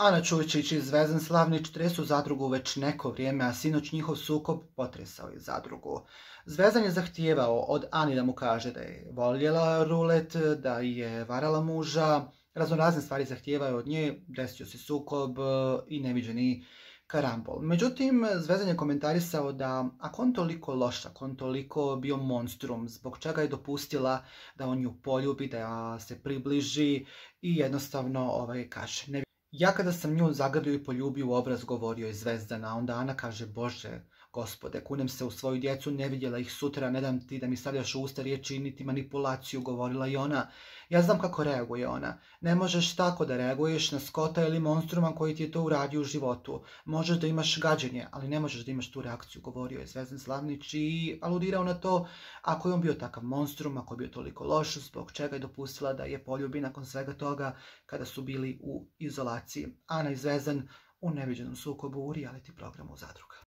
Ana Čujičić i Zvezdan Slavnić tresu Zadrugu već neko vrijeme, a sinoć njihov sukob potresao je Zadrugu. Zvezdan je zahtijevao od Ani da mu kaže da je voljela rulet, da je varala muža, raznorazne stvari zahtijevao od nje, desio se sukob i neviđeni karambol. Međutim, Zvezdan je komentarisao da ako on toliko loš, ako on toliko bio monstrum, zbog čega je dopustila da on nju poljubi, da se približi i jednostavno kaže. Ja kada sam nju zagrlio i poljubio u obraz, govorio je Zvezdan, a onda Ana kaže, Bože, Gospode, kunem se u svoju djecu, ne vidjela ih sutra, ne dam ti da mi stavljaš u usta riječi niti manipulaciju, govorila i ona. Ja znam kako reaguje ona. Ne možeš tako da reaguješ na skota ili monstruma koji ti je to uradio u životu. Možeš da imaš gađenje, ali ne možeš da imaš tu reakciju, govorio je Zvezdan Slavnić i aludirao na to ako je on bio takav monstrum, ako je bio toliko loš, zbog čega je dopustila da je poljubi nakon svega toga kada su bili u izolaciji. Ana i Zvezdan u neviđenom sukobu u reality programu Zadruga.